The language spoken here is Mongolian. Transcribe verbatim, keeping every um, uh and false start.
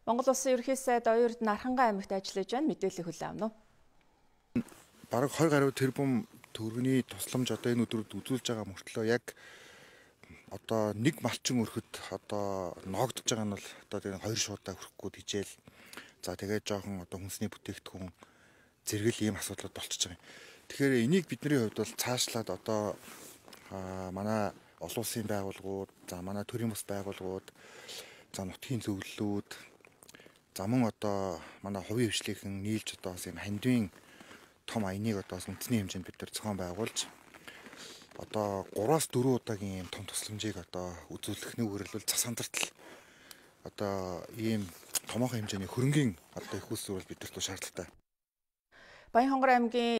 Монгол Улсын ерөнхий сайд Оюун Эрдэнэ Архангай аймагт ажиллаж байна. Мэдээлэл хүлээн авна уу? Бараг хоёр гаруй тэрбум төгрөгийн тусламж одоо энэ өдрүүд үзүүлж байгаа мөртлөө яг одоо нэг малчин өрхөд одоо ноогдож байгаа нь бол одоо тэр хоёр шуудаа хүрхгүй хичээл. За тэгээд жоохон одоо хүнсний бүтээгдэхүүн зэрэгэл ийм асуудлууд болчихж байгаа юм. Тэгэхээр энийг бидний хувьд бол цаашлаад одоо манай олон улсын байгууллагууд, за манай төрийн бус байгууллагууд, за нутгийн зөвлөлүүд, за мөн одоо манай хувийн хвшлийнхэн нийлж одоо бас юм хандвийн том аяныг одоо үндэсний хэмжээнд бид нар зохион байгуулж одоо гураас дөрвөн удаагийн юм том тусламжийг одоо үзүүлэх нүгээр л засандартал одоо ийм томоохон хэмжээний хөрөнгийн одоо их усүрэл бидэрт шаардлагатай. Баянхонгор аймгийн